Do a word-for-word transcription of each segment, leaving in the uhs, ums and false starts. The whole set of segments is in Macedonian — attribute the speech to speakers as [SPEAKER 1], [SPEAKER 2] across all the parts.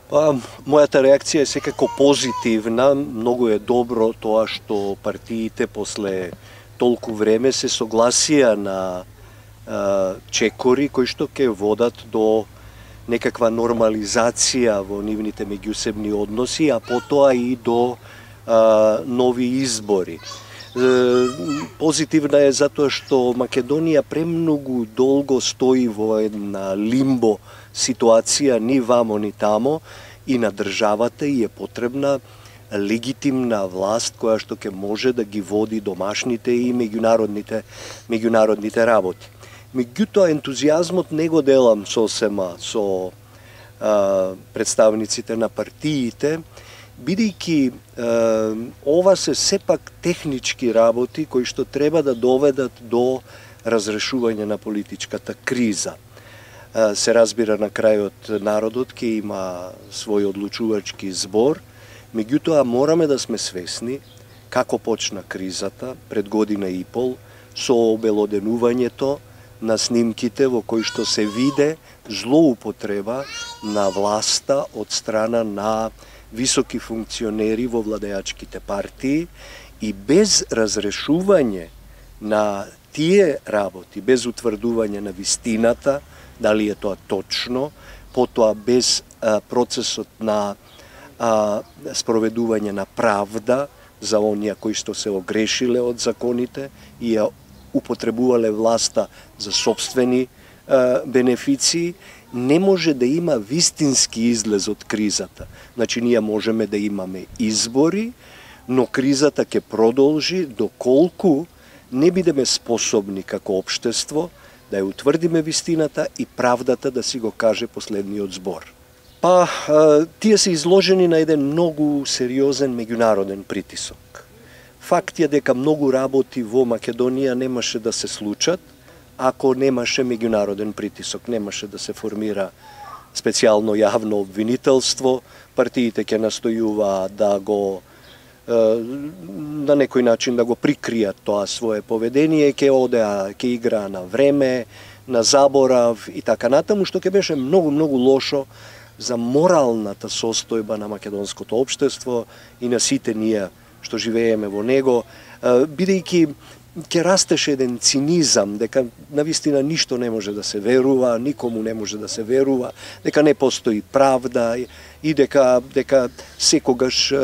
[SPEAKER 1] Па, мојата реакција е секако позитивна. Многу е добро тоа што партиите после толку време се согласија на а, чекори кои што ќе водат до некаква нормализација во нивните меѓусебни односи, а потоа и до а, нови избори. Позитивна е затоа што Македонија премногу долго стои во една лимбо ситуација, ни вамо ни тамо, и на државата и е потребна легитимна власт која што ќе може да ги води домашните и меѓународните меѓународните работи. Меѓутоа ентузијазмот не го делам сосема со а, представниците на партиите, бидејќи ова се сепак технички работи кои што треба да доведат до разрешување на политичката криза. Е, се разбира на крајот народот ќе има свој одлучувачки збор, меѓутоа мораме да сме свесни како почна кризата пред година и пол со обелоденувањето на снимките во кои што се виде злоупотреба на власта од страна на високи функционери во владеачките партии и без разрешување на тие работи, без утврдување на вистината, дали е тоа точно, потоа без а, процесот на а, спроведување на правда за оние кои што се огрешиле од законите и ја употребувале власта за собствени а, бенефиции, не може да има вистински излез од кризата. Значи, ние можеме да имаме избори, но кризата ќе продолжи доколку не бидеме способни како општество да ја утврдиме вистината и правдата да си го каже последниот збор. Па, тие се изложени на еден многу сериозен меѓународен притисок. Факт е дека многу работи во Македонија немаше да се случат ако немаше меѓународен притисок, немаше да се формира специјално јавно обвинителство, партиите ќе настојуваат да го на некој начин да го прикријат тоа свое поведение, ќе одеа, ќе играа на време, на заборав и така натаму, што ќе беше многу многу лошо за моралната состојба на македонското општество и на сите ние што живееме во него, бидејќи ќе растеше еден цинизам, дека навистина ништо не може да се верува, никому не може да се верува, дека не постои правда и дека дека секогаш е,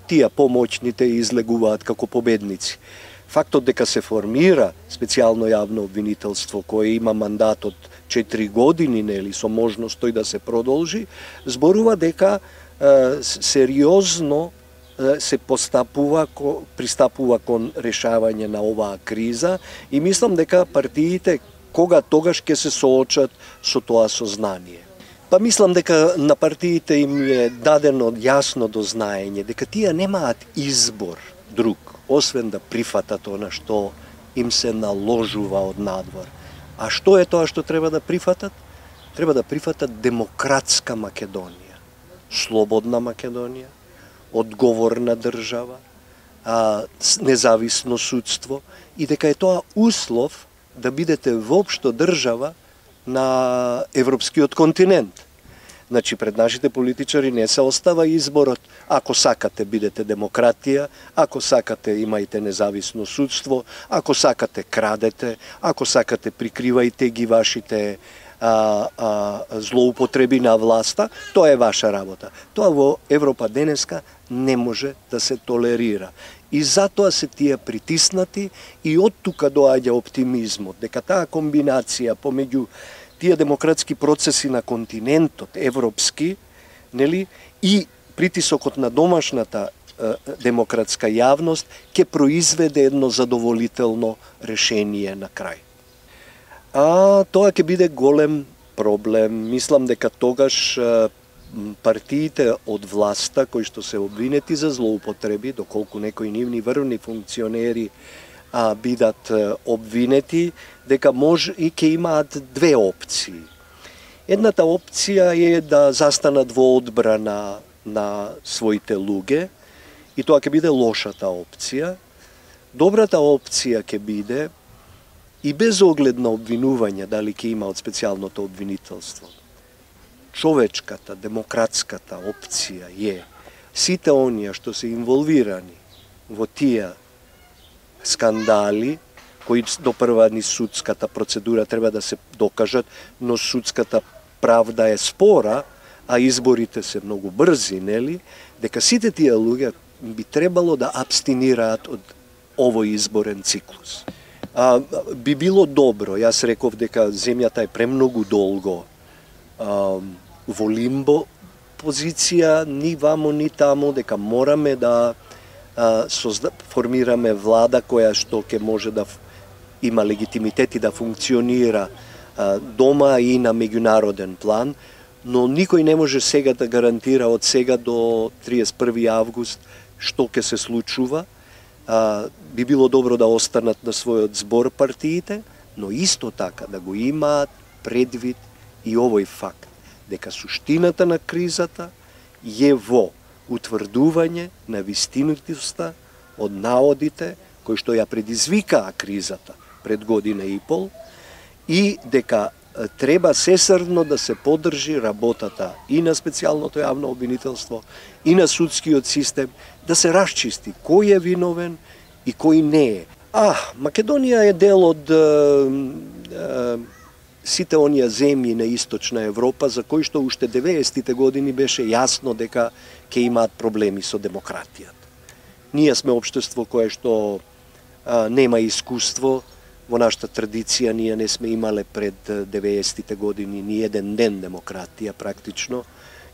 [SPEAKER 1] тие помоćните излегуваат како победници. Фактот дека се формира специјално јавно обвинителство кое има мандат од четири години, нели, со можност тој да се продолжи, зборува дека е, сериозно се постапува, пристапува кон решавање на оваа криза и мислам дека партиите кога тогаш ќе се соочат со тоа сознание. Па мислам дека на партиите им е дадено јасно дознаење дека тие немаат избор друг, освен да прифатат она што им се наложува од надвор. А што е тоа што треба да прифатат? Треба да прифатат демократска Македонија, слободна Македонија, одговорна држава, а, независно судство и дека е тоа услов да бидете воопшто држава на европскиот континент. Значи, пред нашите политичари не се остава изборот, ако сакате бидете демократија, ако сакате имајте независно судство, ако сакате крадете, ако сакате прикривајте ги вашите А, а, злоупотреби на власта, тоа е ваша работа. Тоа во Европа денеска не може да се толерира. И затоа се тие притиснати и од тука доаѓа оптимизмот, дека таа комбинација помеѓу тие демократски процеси на континентот, европски, нели, и притисокот на домашната е, демократска јавност ќе произведе едно задоволително решение на крај. А тоа ќе биде голем проблем. Мислам дека тогаш партиите од власта кои што се обвинети за злоупотреби, доколку некои нивни врвни функционери а, бидат обвинети, дека може и ќе имаат две опции. Едната опција е да застанат во одбрана на своите луѓе и тоа ќе биде лошата опција. Добрата опција ќе биде и без оглед на обвинување, дали ќе има од специјалното обвинителство, човечката, демократската опција е сите оние што се инволвирани во тие скандали, кои допрва ни судската процедура треба да се докажат, но судската правда е спора, а изборите се многу брзи, нели? Дека сите тие луѓе би требало да абстинираат од овој изборен циклус. А, би било добро, јас реков дека земјата е премногу долго а, во лимбо позиција, ни вамо ни тамо, дека мораме да а, созда, формираме влада која што ќе може да има легитимитет и да функционира а, дома и на меѓународен план, но никој не може сега да гарантира од сега до триесет и први август што ќе се случува. А, би било добро да останат на својот збор партиите, но исто така да го имаат предвид и овој факт, дека суштината на кризата е во утврдување на вистинитоста од наодите кои што ја предизвикаа кризата пред година и пол, и дека треба сесрно да се поддржи работата и на специјалното јавно обвинителство и на судскиот систем, да се расчисти кој е виновен и кој не е. А, Македонија е дел од е, е, сите оние земји на Источна Европа за кои што уште деветдесетите години беше јасно дека ќе имаат проблеми со демократијата. Ние сме општество кое што а, нема искуство. Во нашата традиција ние не сме имале пред деветдесетите години ни еден ден демократија практично.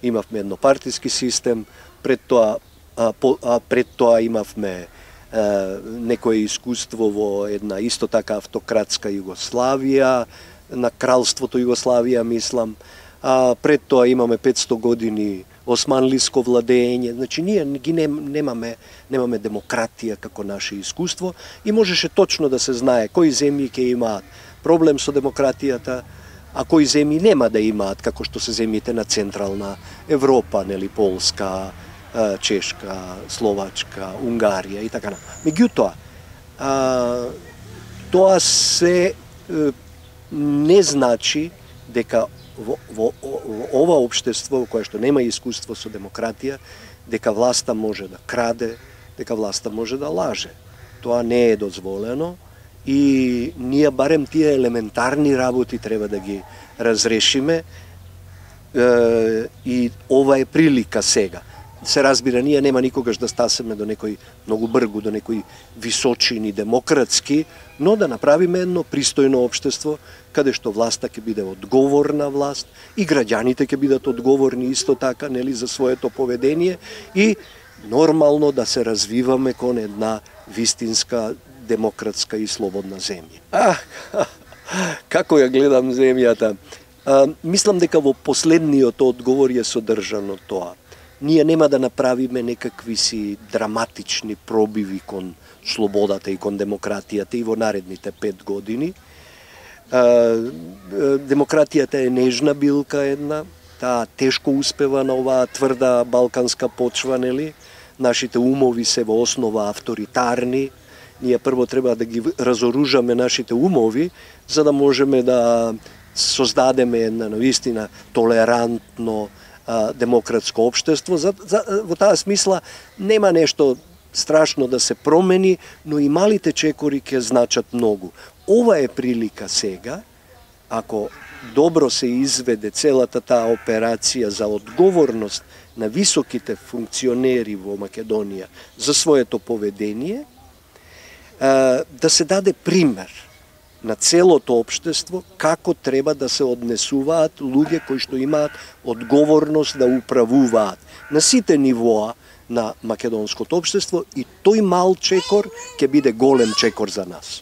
[SPEAKER 1] Имавме еднопартиски систем, пред тоа а, по, а, пред тоа имавме а, некое искуство во една исто така автократска Југославија, на кралството Југославија мислам. А пред тоа имаме петсто години османлиско владење, значи ние ги немаме, немаме демократија како наше искуство и можеше точно да се знае кои земји ќе имаат проблем со демократијата, а кои земји нема да имаат, како што се земјите на Централна Европа, нели, Полска, Чешка, Словачка, Унгарија и така например. Меѓутоа, тоа се не значи дека Во, во, во ова општество, кое што нема искуство со демократија, дека власта може да краде, дека власта може да лаже. Тоа не е дозволено и ние барем тие елементарни работи треба да ги разрешиме е, и ова е прилика сега. Се разбира, ние нема никогаш да стасеме до некој многу бргу, до некои височини демократски, но да направиме едно пристојно општество, каде што власта ќе биде одговорна власт и граѓаните ќе бидат одговорни исто така, нели, за своето поведение и нормално да се развиваме кон една вистинска, демократска и слободна земја. А, како ја гледам земјата? А, мислам дека во последниот одговор е содржано тоа. Ние нема да направиме некакви си драматични пробиви кон слободата и кон демократијата и во наредните пет години. Демократијата е нежна билка една, таа тешко успева на оваа тврда балканска почва, нели? Нашите умови се во основа авторитарни. Ние прво треба да ги разоружаме нашите умови, за да можеме да создадеме една навистина толерантно демократско општество. За, за, во таа смисла нема нешто страшно да се промени, но и малите чекори ќе значат многу. Ова е прилика сега, ако добро се изведе целата таа операција за одговорност на високите функционери во Македонија за своето поведение, да се даде пример на целото општество како треба да се однесуваат луѓе кои што имаат одговорност да управуваат на сите нивоа на македонското општество и тој мал чекор ќе биде голем чекор за нас.